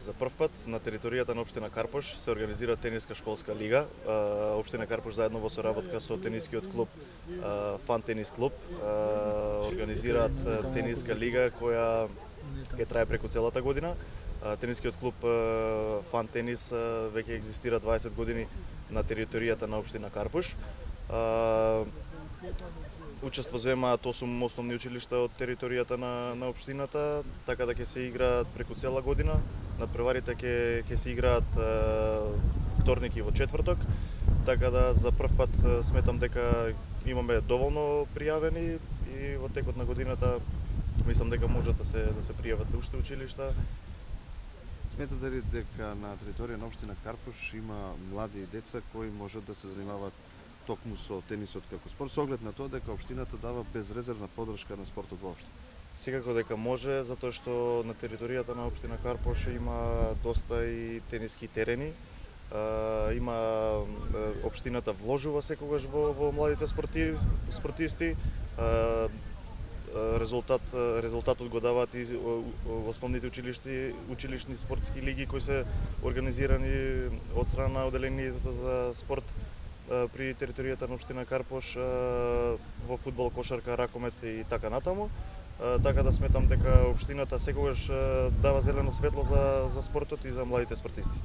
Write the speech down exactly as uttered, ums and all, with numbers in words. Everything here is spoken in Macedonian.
За прв пат на територијата на општина Карпош се организира тениска школска лига. Општина Карпош заедно во соработка со тенискиот клуб Фан Тенис клуб организираат тениска лига која ќе трае преку целата година. Тенискиот клуб Фан Тенис веќе екзистира дваесет години на територијата на општина Карпош. Учество земаат осум основни училишта од територијата на, на општината, така да ќе се играат преку цела година. Надпреварите ќе ќе се играат е, вторник и во четврток, така да за прв пат сметам дека имаме доволно пријавени и во текот на годината мислам дека можат да се да се пријават уште училишта. Сметате ли дека на територија на општина Карпош има млади деца кои можат да се занимаваат токму со тенисот како спорт, со оглед на тоа дека општината дава безрезервна поддршка на спортот воопшто? Секако дека може, затоа што на територијата на општина Карпош има доста и тениски терени. Uh, има uh, општината вложува секогаш во, во младите спорти, спортисти. Uh, резултат резултатот го даваат и основните училишти, училишни спортски лиги кои се организирани од страна на оделението за спорт при територијата на општина Карпош во фудбал, кошарка, ракомет и така натаму. Така да сметам дека општината секогаш дава зелено светло за за спортот и за младите спортисти.